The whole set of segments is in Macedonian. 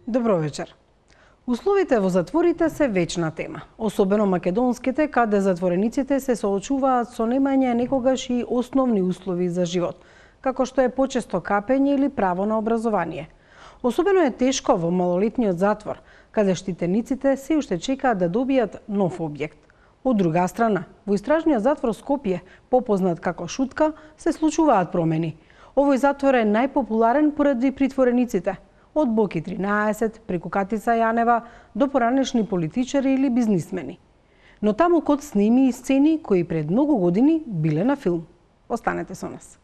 Добро вечер. Условите во затворите се вечна тема, особено македонските, каде затворениците се соочуваат со немање некогаш и основни услови за живот, како што е почесто капење или право на образование. Особено е тешко во малолетниот затвор, каде штитениците се уште чекаат да добијат нов објект. Од друга страна, во истражниот затвор Скопје, попознат како Шутка, се случуваат промени. Овој затвор е најпопуларен поради притворениците, од Боки 13, преку Катица Јанева, до поранешни политичари или бизнисмени. Но таму код сними и сцени кои пред многу години биле на филм. Останете со нас.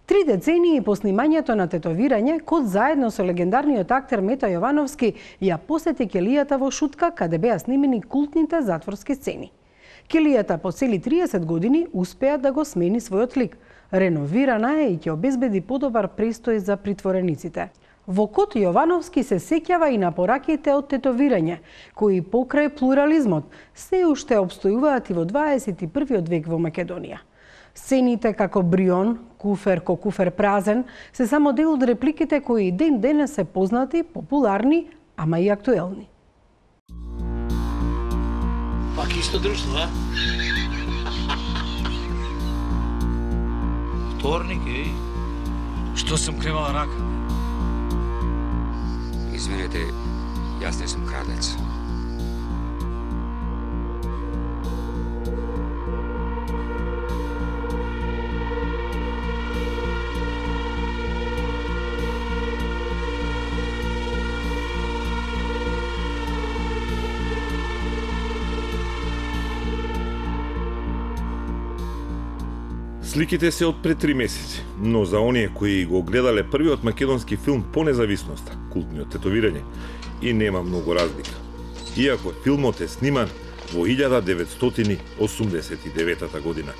3 децении по снимањето на Тетовирање, Код заедно со легендарниот актер Мето Јовановски ја посети келијата во Шутка, каде беа снимени култните затворски сцени. Келијата по цели 30 години успеа да го смени својот лик. Реновирана е и ќе обезбеди подобар престој за притворениците. Во Код Јовановски се сеќава и на пораките од Тетовирање, кои покрај плурализмот се уште обстојуваат и во 21. век во Македонија. Сцените како Брион, Куфер ко куфер празен, се само дел од репликите кои ден денес се познати, популарни, ама и актуелни. Пак исто друштво, а? Вторник, еј? Што сум кремала рака? Извинете, јас не сум крадец. Сликите се од пред 3 месеци, но за оние кои го гледале првиот македонски филм по независноста, култниот Тетовирање, и нема многу разлика. Иако филмот е сниман во 1989 година.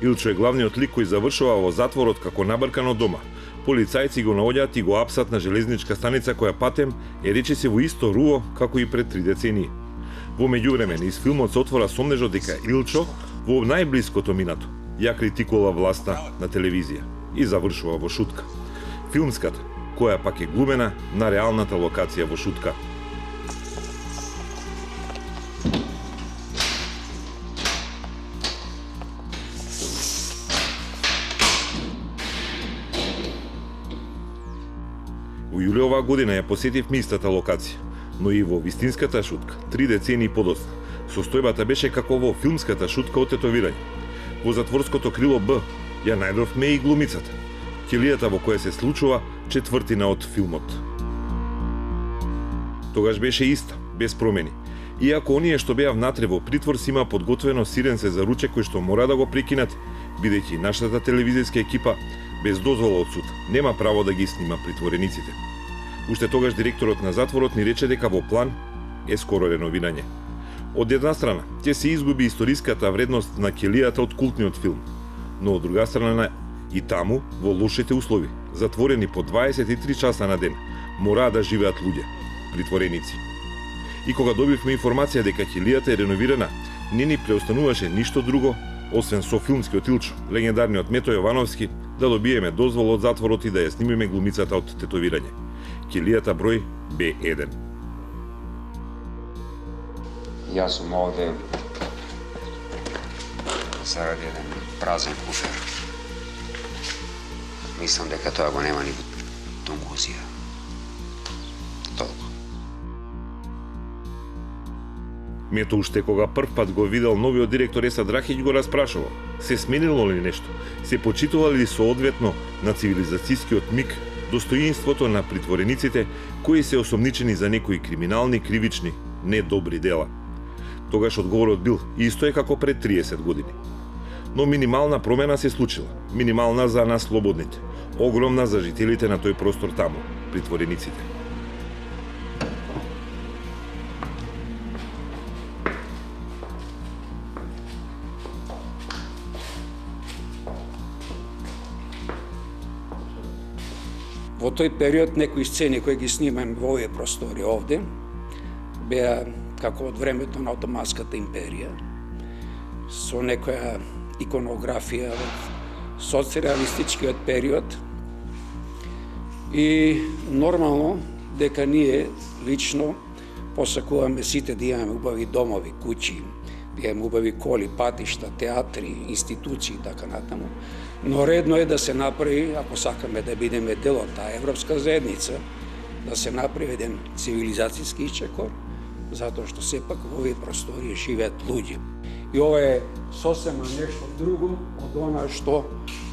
Илчо е главниот лик кој завршува во затворот како набркан од дома. Полицајци го наоѓаат и го апсат на железничка станица која патем е речиси во исто руво како и пред 3 децении. Во меѓувреме низ филмот се отвора сомнежот дека Илчо во најблиското минато ја критикувала власта на телевизија и завршува во Шутка. Филмската, која пак е глумена на реалната локација во Шутка. Во јули оваа година ја посетив мистата локација, но и во вистинската Шутка, 3 децении подоцна, состојбата беше како во филмската Шутка од Тетовирање. Во затворското крило Б ја најдовме и глумицата, келијата во која се случува четвртина од филмот. Тогаш беше иста, без промени. Иако оние што беа внатре во притвор си има подготвено сиренце за ручек кој што мора да го прекинат, бидејќи нашата телевизијска екипа без дозвола од суд нема право да ги снима притворениците. Уште тогаш директорот на затворот ни рече дека во план е скоро реновирање. Од една страна, ќе се изгуби историската вредност на келијата од култниот филм, но од друга страна и таму, во лошите услови, затворени по 23 часа на ден, мораа да живеат луѓе, притвореници. И кога добивме информација дека келијата е реновирана, не ни преостануваше ништо друго, освен со филмскиот Илчо, легендарниот Мето Јовановски, да добиеме дозвол од затворот и да ја снимиме глумицата од Тетовирање. Келијата број Б1. Јас сум овде заради еден празен куфер. Мислам дека тоа го нема ни Тунгузија. Толку. Мето уште кога прв пат го видел новиот директор Есад Рахиќ го распрашувал, се сменило ли нешто? Се почитували ли соодветно на цивилизацијскиот миг достоинството на притворениците кои се осомничени за некои криминални, кривични, недобри дела? Тогаш одговорот бил исто е како пред 30 години. Но минимална промена се случила. Минимална за нас слободните. Огромна за жителите на тој простор таму, притворениците. Во тој период некои сцени кои ги снимаме во овие простори овде беа како од времето на Отоманската империја, со некоја иконографија од соцреалистичкиот период и нормално дека ние лично посакуваме сите да имаме убави домови, куќи, да имаме убави коли, патишта, театри, институции и така натаму. Но редно е да се направи, ако сакаме да бидеме дел од таа европска заедница, да се направи еден цивилизацијски чекор, затоа што сепак во овие простори живеат луѓе. И ова е сосема нешто друго од она што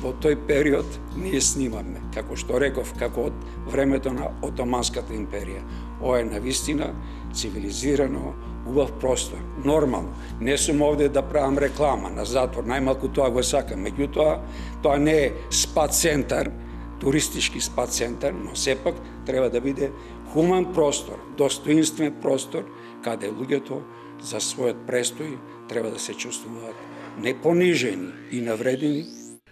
во тој период ние снимаме. Како што реков, како од времето на Отоманската империја. Ова е навистина цивилизирано, убав простор. Нормално. Не сум овде да правам реклама на затвор, најмалку тоа го сакам. Меѓутоа, тоа не е спа центар, туристички спа центар, но сепак треба да биде хуман простор, достоинствен простор, каде луѓето за својот престој треба да се чувствуваат непонижени и навредени.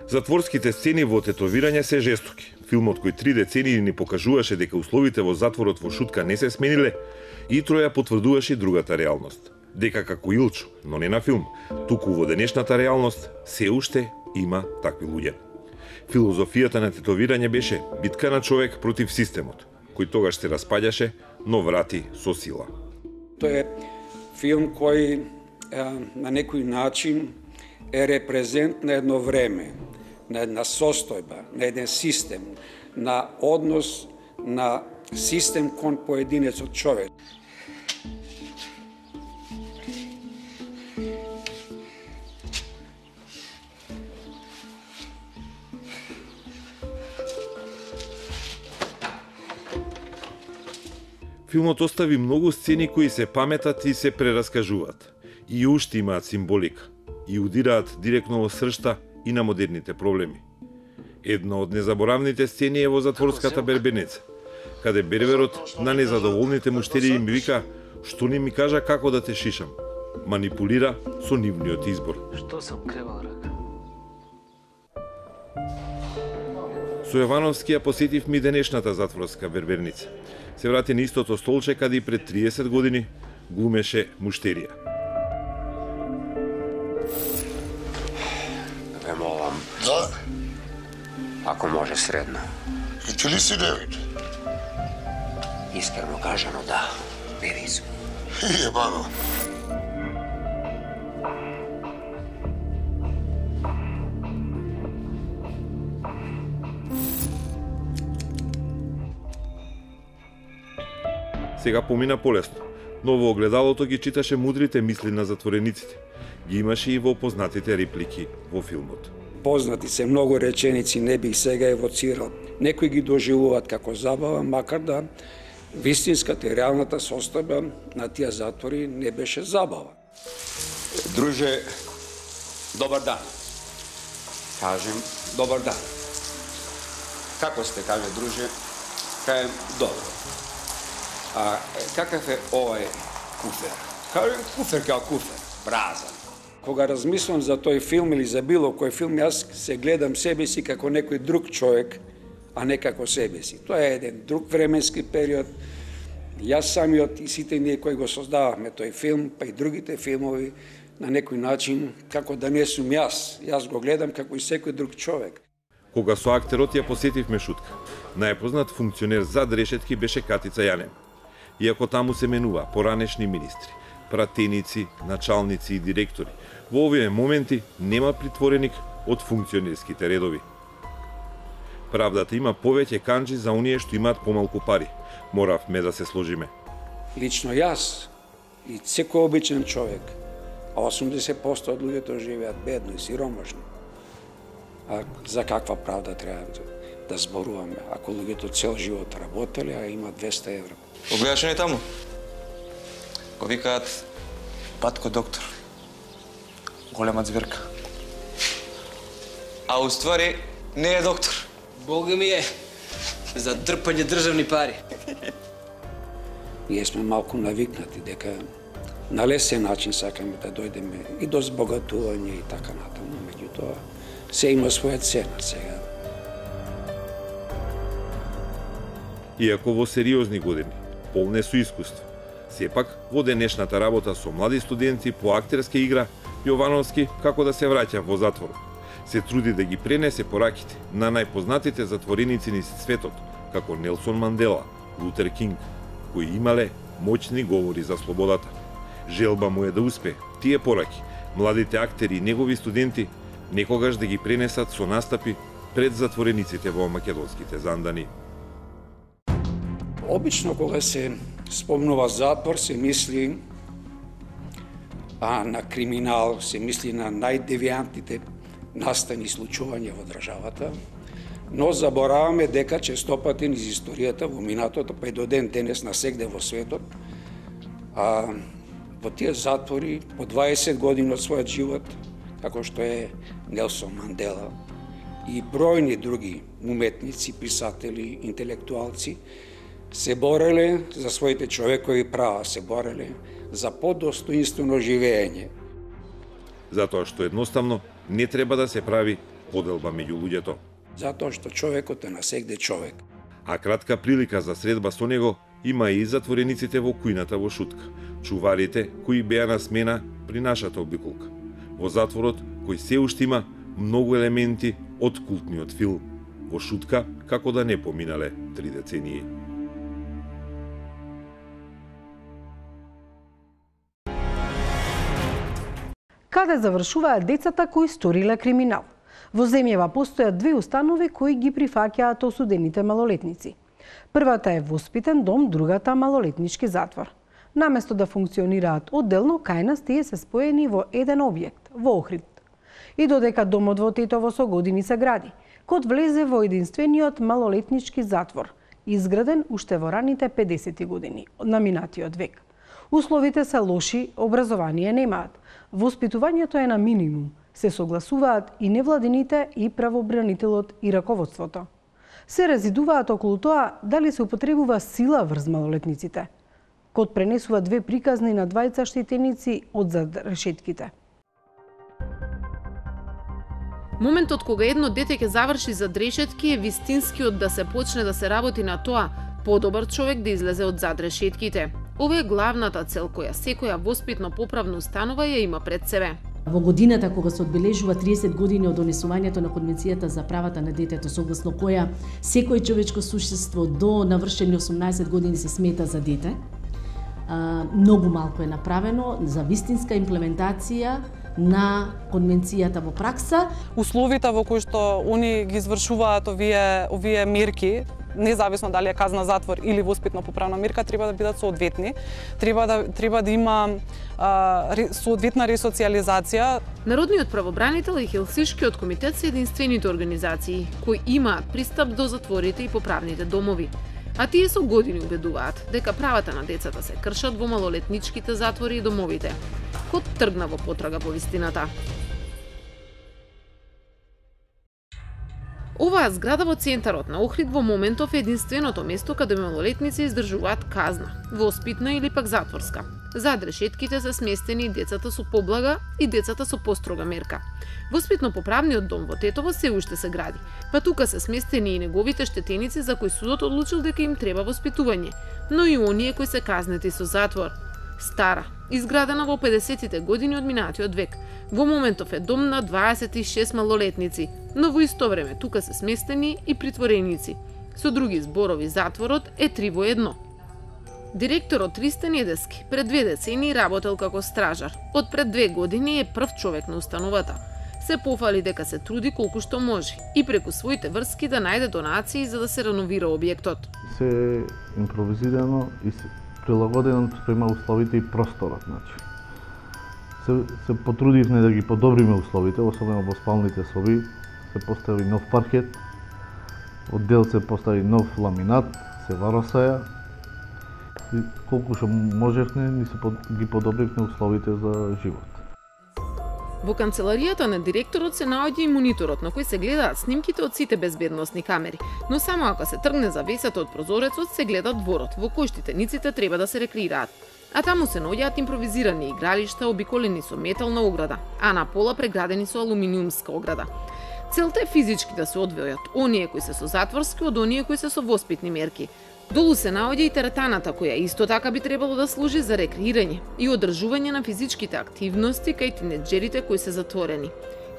Затворските сцени во тетовирање се жестоки. Филмот кој 3 децении ни покажуваше дека условите во затворот во Шутка не се смениле, и троја потврдуваше другата реалност. Дека како Илчо, но не на филм, туку во денешната реалност се уште има такви луѓе. Филозофијата на тетовирање беше битка на човек против системот, кој тогаш се распаѓаше, но врати со сила. Тоа е филм кој на некој начин е репрезент на едно време, на една состојба, на еден систем, на однос на систем кон поединецот човек. Филмот остави многу сцени кои се паметат и се прераскажуваат. И уште имаат символика. И удираат директно во сршта и на модерните проблеми. Една од незаборавните сцени е во затворската бербеница, каде берберот на незадоволните муштери им вика што не ми кажа како да те шишам. Манипулира со нивниот избор. Што сам кревал рака? Со Јовановски ја посетивме и денешната затворска берберница. Се врати на истото столче каде и пред 30 години глумеше муштерија. Ве молам, Да, ако може средно. и ти ли си Девид? Искрено кажано, да. Не визу. Ебано. Сега помина полесно, но во огледалото ги читаше мудрите мисли на затворениците. Ги имаше и во познатите реплики во филмот. Познати се многу реченици, не бих сега евоцирал. Некои ги доживуваат како забава, макар да вистинската и реалната состојба на тие затвори не беше забава. Друже, добар дан. Кажем, добар дан. Како сте, каже друже? Кажем, добро. А какав е овај куфер? Кажем, куфер као куфер, празан. Кога размислам за тој филм или за било кој филм, јас се гледам себе си како некој друг човек, а не како себе си. Тоа е еден друг временски период. Јас самиот и сите ние кои го создававме тој филм, па и другите филмови, на некој начин, како да не сум јас. Јас го гледам како и секој друг човек. Кога со актерот ја посетивме Шутка, најпознат функционер зад решетки беше Катица Јанем. Иако таму се менува поранешни министри, пратеници, началници и директори, во овие моменти нема притвореник од функционерските редови. Правдата има повеќе канџи за оние што имаат помалку пари. Моравме да се сложиме. Лично јас и секој обичен човек, а 80% од луѓето живеат бедно и сиромашно. А за каква правда треба да зборуваме, ако луѓето цел живот работеле, а имаат 200 евра? Погледаш не таму? Го викаат Патко доктор. Голема зверка. А уствари не е доктор. Бога ми е за дрпање државни пари. Ние сме малку навикнати дека на лесен начин сакаме да дојдеме и до збогатување и така натаму, меѓутоа се има своја цена сега. Иако во сериозни години, полне со искуство, сепак во денешната работа со млади студенти по актерска игра, Јовановски, како да се враќа во затвор, се труди да ги пренесе пораките на најпознатите затвореници низ светот, како Нелсон Мандела, Лутер Кинг, кои имале моćни говори за слободата. Желба му е да успе тие пораки, младите актери и негови студенти, некогаш да ги пренесат со настапи пред затворениците во македонските зандани. Обично кога се спомнува затвор, се мисли на криминал, се мисли на најдевијантните настани и случувања во државата, но забораваме дека честопати низ историјата во минатото, па и до ден денес насегде во светот, во тие затвори по 20 години од својот живот, како што е Нелсон Мандела и бројни други уметници, писатели, интелектуалци, се бореле за своите човекови права, се бореле за подостоинствено живење. Затоа што едноставно не треба да се прави поделба меѓу луѓето. Затоа што човекот е насегде човек. А кратка прилика за средба со него има и затворениците во кујната во Шутка, чуварите кои беа на смена при нашата обиколка. Во затворот кој се уште има многу елементи од култниот филм. Во Шутка како да не поминале 3 децении. Каде завршуваат децата кои сториле криминал? Во земјава постојат две установи кои ги прифаќаат осудените малолетници. Првата е воспитен дом, другата малолетнички затвор. Наместо да функционираат одделно, кај нас тие се споени во еден објект, во Охрид. И додека домот во Тетово со години се гради, код влезе во единствениот малолетнички затвор, изграден уште во раните 50 години на минатиот век. Условите се лоши, образование немаат. Воспитувањето е на минимум. Се согласуваат и невладините, и правобранителот, и раководството. Се резидуваат околу тоа дали се употребува сила врз малолетниците. Код пренесува две приказни на двајца штетеници од зад решетките. Моментот кога едно дете ќе заврши зад решетки е вистинскиот да се почне да се работи на тоа, подобар човек да излезе од зад решетките. Ова е главната цел која секоја воспитно-поправна установа ја има пред себе. Во годината кога се одбележува 30 години од донесувањето на Конвенцијата за правата на детето, согласно која секој човечко суштество до навршени 18 години се смета за дете, многу малку е направено за вистинска имплементација на Конвенцијата во пракса. Условите во кои што они ги извршуваат овие мерки, независно дали е казна затвор или воспитно-поправна мерка, треба да бидат соодветни. Треба да има соодветна ресоциализација. Народниот правобранител и Хелсиншкиот комитет се единствените организации кои имаат пристап до затворите и поправните домови. А тие со години убедуваат дека правата на децата се кршат во малолетничките затвори и домовите. Код тргна во потрага по вистината. Оваа зграда во центарот на Охрид во моментов е единственото место каде малолетници издржуваат казна, воспитна или пак затворска. Зад решетките се сместени и децата со поблага и децата со построга мерка. Воспитно-поправниот дом во Тетово се уште се гради, па тука се сместени и неговите штетеници за кои судот одлучил дека им треба воспитување, но и оние кои се казнети со затвор. Стара, изградена во 50-тите години од минатиот век, во моментов е дом на 26 малолетници, но во исто време тука се сместени и притвореници. Со други зборови, затворот е 3 во 1. Директорот Ристен Едески пред 2 децении работел како стражар. Од пред 2 години е прв човек на установата. Се пофали дека се труди колку што може и преку своите врски да најде донации за да се реновира објектот. Се импровизирано и прилагодено спрема условите и просторот, значи. Се потрудивме да ги подобриме условите, особено во спалните соби. Се постави нов паркет, од дел се постави нов ламинат, се варосаја и колку што можевме ги подобривме условите за живот. Во канцеларијата на директорот се наоѓа и мониторот на кој се гледаат снимките од сите безбедносни камери, но само ако се тргне завесата од прозорецот се гледа дворот, во кој штитениците треба да се рекреираат. А таму се наоѓаат импровизирани игралишта обиколени со метална ограда, а на пола преградени со алуминиумска ограда. Целта е физички да се одвојат оние кои се со затворски од оние кои се со воспитни мерки. Долу се наоѓа и теретаната која исто така би требало да служи за рекреирање и одржување на физичките активности кај тинеџерите кои се затворени.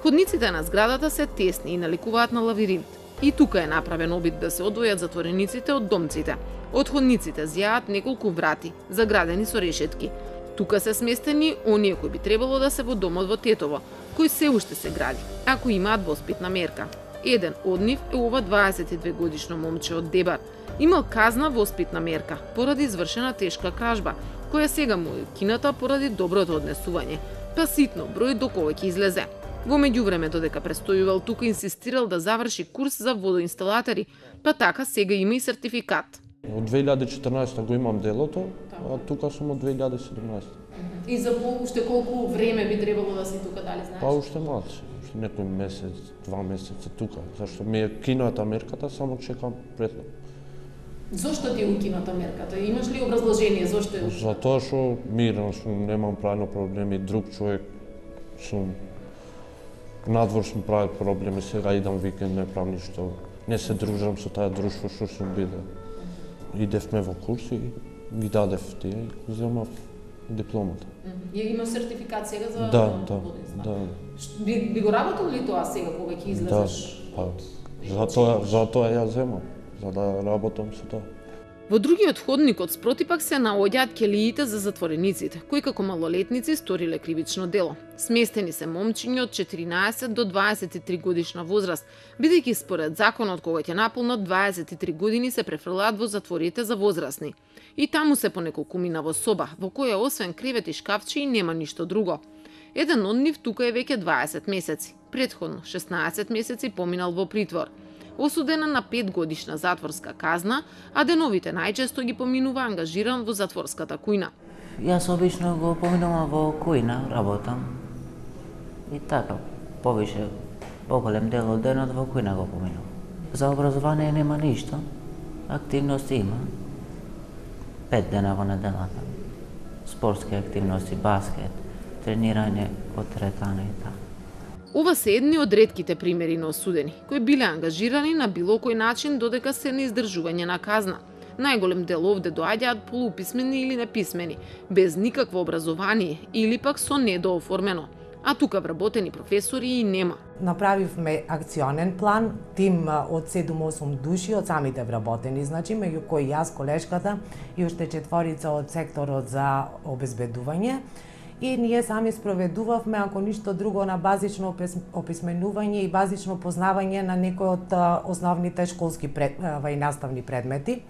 Ходниците на зградата се тесни и наликуваат на лавиринт. И тука е направен обид да се одвојат затворениците од домците. Од ходниците зјаат неколку врати, заградени со решетки. Тука се сместени оние кои би требало да се во домот во Тетово, кој се уште се гради, ако имаат воспитна мерка. Еден од нив е ова 22 годишно момче од Дебар. Имал казна воспитна мерка поради извршена тешка кражба, која сега му е кината поради доброто однесување, па ситно број доколку ќе излезе. Во меѓувреме додека престојувал тука инсистирал да заврши курс за водоинсталатори, па така сега има и сертификат. Од 2014 го имам делото, а тука сум од 2017. И за уште колку време би требало да си тука, дали знаеш? Па уште малце, уште некој месец, 2 месеца тука, зашто ми е кината мерката, само чекам предно. Зошто ти е укината мерката? Имаш ли образложение зошто е? Затоа што мирен сум, немам правно проблеми, друг човек сум. Надвор сум правил проблеми, сега идам викенд, не правам ништо. Не се дружам со таа друштво што сум биле. Идевме во курс и ги дадев тие и земав дипломата. Ја имаш сертификат сега за водоинсталатор? Да. Би го работил ли тоа сега кога ќе излезеш? Да, затоа ја земам, за да работам со тоа. Во другиот ходник од спроти пак се наоѓаат келиите за затворениците, кои како малолетници сториле кривично дело. Сместени се момчиња од 14 до 23 годишна возраст, бидејќи според законот кога ќе наполнат 23 години се префрлаат во затворите за возрастни. И таму се по неколкумина во соба, во која освен кревет и шкафчи нема ништо друго. Еден од нив тука е веќе 20 месеци, претходно 16 месеци поминал во притвор. Осудена на 5 годишна затворска казна, а деновите најчесто ги поминува ангажиран во затворската кујна. Јас обично го поминувам во кујна, работам. И така, повише, поголем дел од денот во кујна го поминувам. За образование нема ништо, активности има. 5 дена во неделата. Спортски активности, баскет, тренирање, потретање и така. Ова се едни од ретките примери на осудени, кои биле ангажирани на било кој начин додека се на издржување на казна. Најголем дел овде доаѓаат полуписмени или неписмени, без никакво образование или пак со недооформено. А тука вработени професори и нема. Направивме акционен план, тим од 7-8 души од самите вработени, значи меѓу кои јас, колешката и уште 4 од секторот за обезбедување. И ние сами спроведувавме, ако ништо друго, на базично описменување и базично познавање на некои од основните школски и наставни предмети.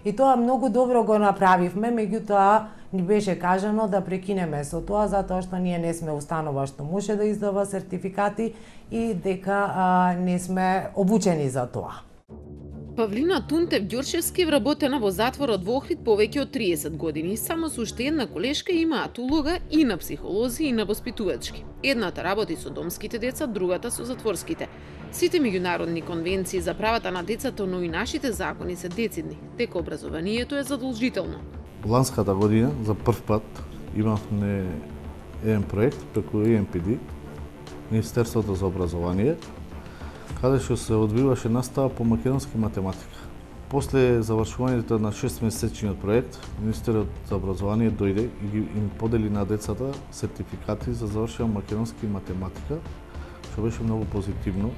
И тоа многу добро го направивме, меѓутоа ни беше кажано да прекинеме со тоа, затоа што ние не сме установа што може да издава сертификати и дека не сме обучени за тоа. Павлина Тунтев Ѓорчевски вработена во затворот во Охрид повеќе од 30 години. Само со уште една колешка имаат улога и на психолози и на воспитувачки. Едната работи со домските деца, другата со затворските. Сите меѓународни конвенции за правата на децата, но и нашите закони се децидни, дека образованието е задолжително. Ланската година за прв пат имавме еден проект преку EMPD, Министерството за образование, каде што се одвиваше настава по македонски математика. После завршувањето на 6-месечниот проект, Министерот за образование дојде и им подели на децата сертификати за завршена македонски математика, што беше многу позитивно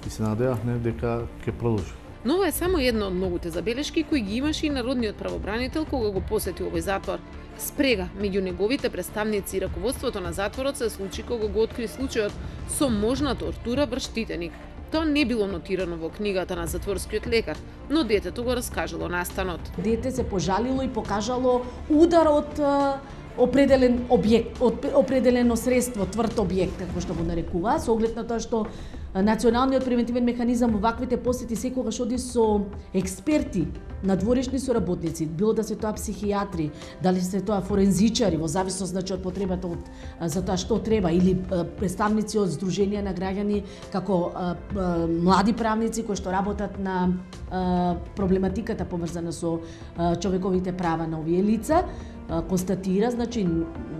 и се надевавме дека ќе продолжи. Но ова е само една од многуте забелешки кои ги имаше и народниот правобранител кога го посети овој затвор. Спрега меѓу неговите представници и раководството на затворот се случи кога го откри случајот со можна тортура врз штитеник. Тоа не било нотирано во книгата на затворскиот лекар, но детето го раскажало настанот. Дете се пожалило и покажало удар од определен објект, од определено средство, тврд објект, како што го нарекува, со оглед на тоа што Националниот превентивен механизам во ваквите посети секогаш оди со експерти, надворешни соработници, било да се тоа психијатри, дали се тоа форензичари, во зависност од потребата за тоа што треба, или представници од Сдруженија на граѓани како млади правници кои што работат на проблематиката поврзана со човековите права на овие лица, констатира, значи,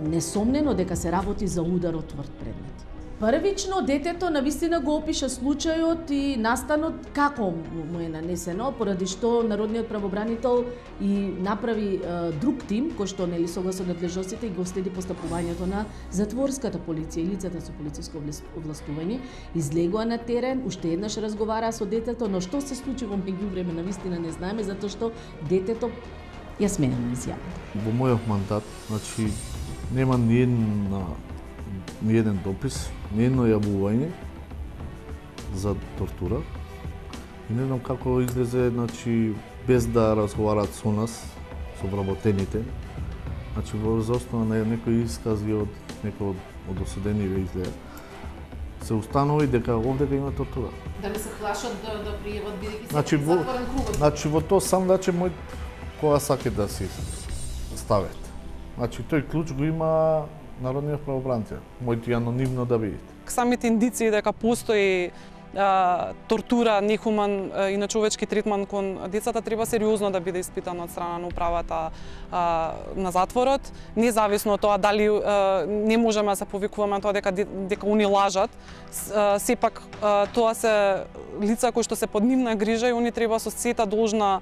несомнено дека се работи за удар од тврд предмет. Првично детето навистина го опиша случајот и настанот како му е нанесено, поради што народниот правобранител и направи друг тим кој што нели согласно надлежностите и го следи постапувањето на затворската полиција и лицата со полициско овластување, излегоа на терен, уште еднаш разговараа со детето, но што се случи во меѓувреме навистина не знаеме, затоа што детето ја сменено изјавата. Во мојот мандат, значи, нема ни еден допис, ни едно јавување за тортура. И не знам како излезе, значи, без да разговараат со нас, со вработените. Значи, во основа на некои искази од некој од осудените излега, се установи дека овде има тортура. Да не се плашат да пријават бидејќи значи, се затворен круг. Значи, во тоа сам значи мој кога саке да си стават. Значи, тој клуч го има народниот правобранител. Мојте анонимно да видите. Самите индиции дека постои тортура, нехуман и нечовечки третман кон децата треба сериозно да биде испитано од страна на управата на затворот, независно од тоа дали не можеме да се повикуваме тоа дека они лажат. Сепак тоа се лица кои што се под нивна грижа и они треба со сета должна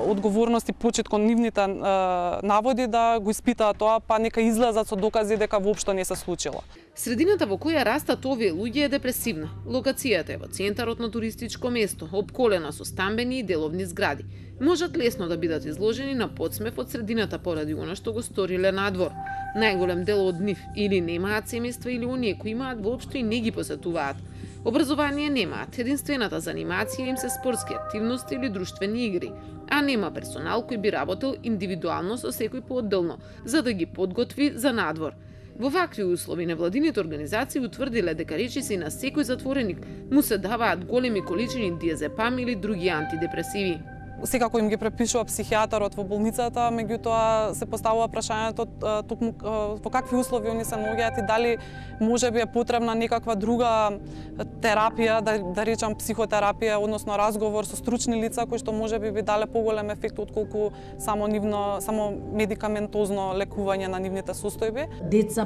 одговорност и почит кон нивните наводи да го испитаат тоа, па нека излезат со докази дека воопшто не се случило. Средината во која растат овие луѓе е депресивна. Локацијата е во центарот на туристичко место, обколена со стамбени и деловни згради. Можат лесно да бидат изложени на подсмев од средината поради она што го сториле надвор. Најголем дел од нив или немаат семејства или оние кои имаат воопшто и не ги посетуваат. Образование немаат, единствената занимација им се спортски активности или друштвени игри, а нема персонал кој би работел индивидуално со секој поодделно, за да ги подготви за надвор. Во вакви услови невладините организации утврдиле дека речиси на секој затвореник му се даваат големи количини диазепам или други антидепресиви. Секако им ги препишува психијатарот во болницата, меѓутоа се поставува прашањето токму во какви услови они се наоѓаат и дали можеби е потребна некаква друга терапија, да речам психотерапија, односно разговор со стручни лица кои што можеби би дале поголем ефект отколку само медикаментозно лекување на нивните состојби. Деца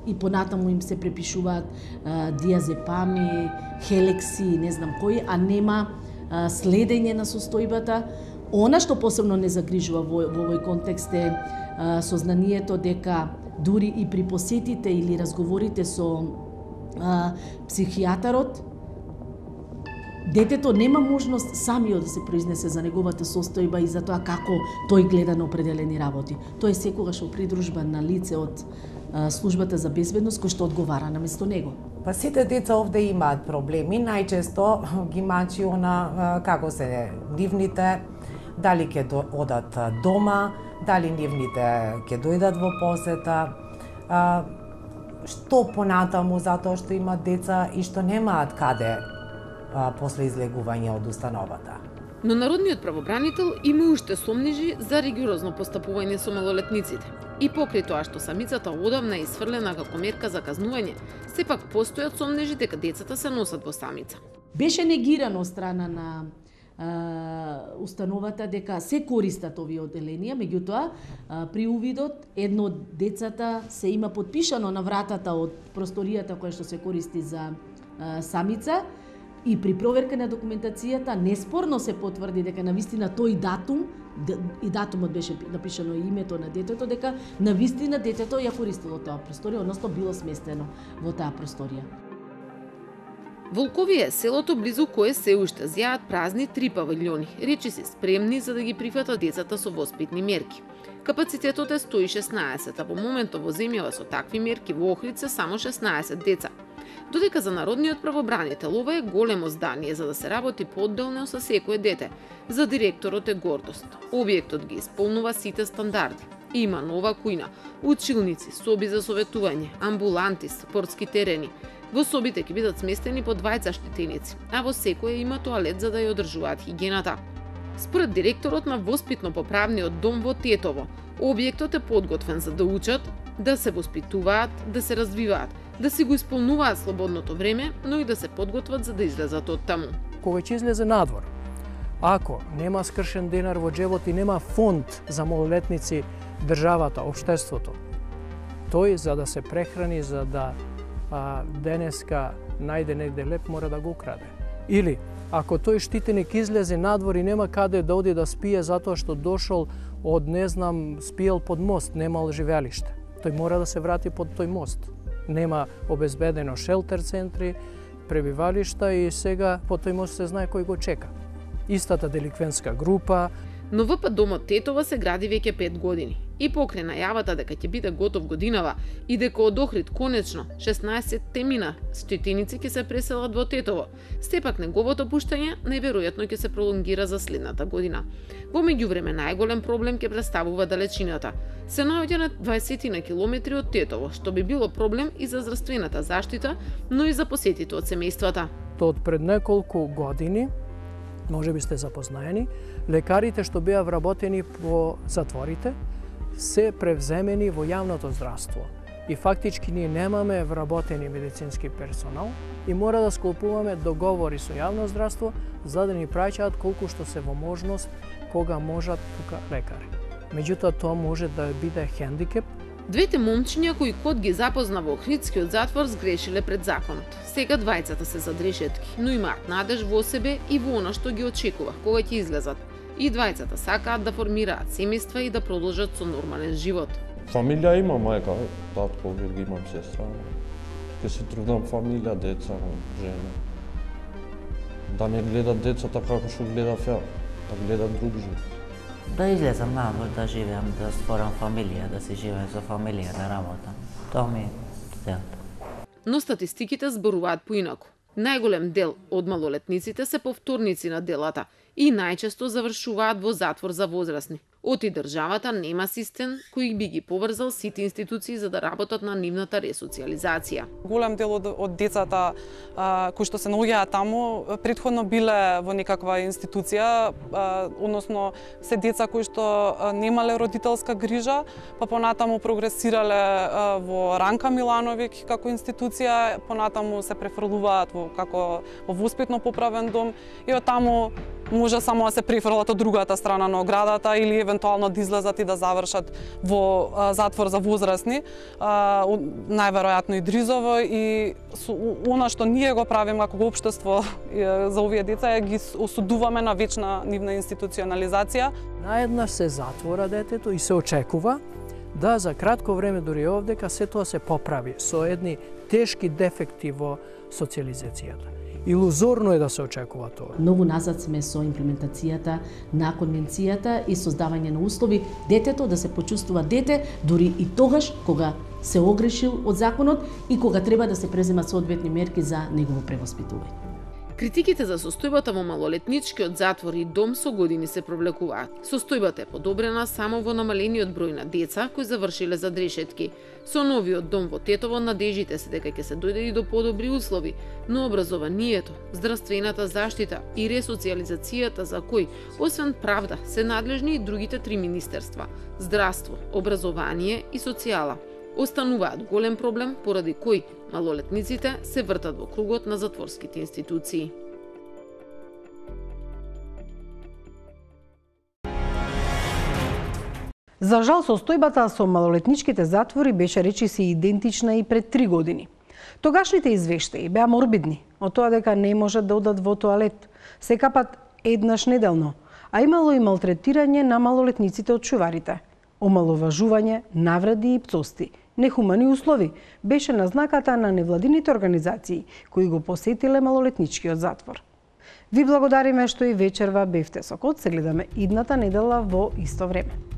и понатаму им се препишуваат диазепами, хелекси, не знам кои, а нема следење на состојбата. Она што посебно не загрижува во овој контекст е сознанието дека дури и при посетите или разговорите со психијатарот, детето нема можност самиот да се произнесе за неговата состојба и за тоа како тој гледа на определени работи. Тој е секогаш во придружба на лице од службата за безбедност кој што одговара наместо него. Па сите деца овде имаат проблеми, најчесто ги мачи она како се нивните, дали ќе одат дома, дали нивните ќе дојдат во посета, што понатаму затоа што имаат деца и што немаат каде после излегување од установата. Но народниот правобранител има уште сомнежи за ригорозно постапување со малолетниците. И покрај тоа што самицата одавна е исфрлена како мерка за казнување, сепак постојат сомнежи дека децата се носат во самица. Беше негирано од страна на установата дека се користат овие одделенија, меѓутоа при увидот едно од децата се има подпишано на вратата од просторијата која што се користи за самица. И при проверка на документацијата неспорно се потврди дека навистина тој датум, и датумот беше напишано и името на детето, дека навистина детето ја користило таа просторија, односно било сместено во таа просторија. Волковие е селото близу кое се уште зјаат празни 3 павилјони, речиси спремни за да ги прифатат децата со воспитни мерки. Капацитетот е 116, а во моментот во земјава со такви мерки во Охрид се само 16 деца. Додека за народниот правобранител ова е големо здание за да се работи поодделно со секое дете. За директорот е гордост. Објектот ги исполнува сите стандарди. Има нова кујна, училници, соби за советување, амбуланти, спортски терени. Во собите ќе бидат сместени по 2 заштитеници, а во секоја има тоалет за да ја одржуваат хигиената. Според директорот на Воспитно-поправниот дом во Тетово, објектот е подготвен за да учат, да се воспитуваат, да се развиваат, да си го исполнуваат слободното време, но и да се подготват за да излезат од таму. Кога ќе излезе надвор, ако нема скршен денар во џебот и нема фонд за малолетници, државата, општеството, тој за да се прехрани, за да денеска најде негде леп, мора да го украде. Или, ако тој штитеник излезе надвор и нема каде да оди да спие затоа што дошол од, не знам, спиел под мост, немал живеалиште, тој мора да се врати под тој мост. Нема обезбедено шелтер центри, пребивалишта и сега по тој мост се знае кој го чека. Истата деликвентска група. Но ВП домот Тетово се гради веќе 5 години. И покрај најавата дека ќе биде готов годинава и дека од Охрид конечно 16 темина штетиници ќе се преселат во Тетово, сепак неговото пуштање најверојатно ќе се пролонгира за следната година. Во меѓувреме најголем проблем ќе представува далечината. Се наоѓа на 20 на километри од Тетово, што би било проблем и за здравствената заштита, но и за посетите од семејствата. Од пред неколку години, може би сте запознаени, лекарите што беа вработени по затворите се превземени во јавното здравство. И фактички ние немаме вработени медицински персонал и мора да склопуваме договори со јавно здравство за да ни праќаат колку што се во можност кога можат тука лекари. Меѓутоа тоа може да биде хендикеп. Двете момчиња кои код ги запозна во Охридскиот затвор сгрешиле пред законот. Сега двајцата се зад решетки, но имаат надеж во себе и во она што ги очекува кога ќе излезат. И двајцата сакаат да формираат семејства и да продолжат со нормален живот. Фамилија имам, мајка, татко, ги имам сестра. Ке се трудам фамилија, деца, жена. Да не гледат децата како што гледав ја, да гледат друг живот. Да излезам надвор, да живеам, да створам фамилија, да се живеам со фамилија, да работам. Тоа ми е целта. Но статистиките зборуваат поинаку. Најголем дел од малолетниците се повторници на делата и најчесто завршуваат во затвор за возрастни. Оти државата нема систем кој би ги поврзал сите институции за да работат на нивната ресоциализација. Голем дел од децата кои што се наоѓаат таму претходно биле во некаква институција, односно се деца кои што немале родителска грижа, па понатаму прогресирале во Ранка Милановиќ како институција, понатаму се префрлуваат како во воспитно поправен дом и од таму може само да се префрлат од другата страна на оградата или евентуално да излезат и да завршат во затвор за возрастни, најверојатно и Дризово, и она што ние го правиме како општество за овие деца е ги осудуваме на вечна нивна институционализација. Наеднаш се затвора детето и се очекува да за кратко време дури овдека се тоа се поправи со едни тешки дефекти во социализацијата. Илузорно е да се очекува тоа. Многу назад сме со имплементацијата на конвенцијата и создавање на услови детето да се почувствува дете дури и тогаш кога се огрешил од законот и кога треба да се преземат соодветни мерки за негово превоспитување. Критиките за состојбата во малолетничкиот затвор и дом со години се провлекуваат. Состојбата е подобрена само во намалениот број на деца кои завршиле зад решетки. Со новиот дом во Тетово надежите се дека ќе се дојде и до подобри услови, но образованието, здравствената заштита и ресоциализацијата за кои, освен правда, се надлежни и другите 3 министерства – здравство, образование и социјала. Остануваат голем проблем поради кој малолетниците се вртат во кругот на затворските институции. За жал, состојбата со малолетничките затвори беше речиси идентична и пред 3 години. Тогашните извештаи беа морбидни, од тоа дека не можат да одат во тоалет, се капат еднаш неделно, а имало и малтретирање на малолетниците од чуварите. омаловажување, навреди и пцости, нехумани услови беше назнаката на невладините организации кои го посетиле малолетничкиот затвор. Ви благодариме што и вечерва бевте со Код. Се гледаме идната недела во исто време.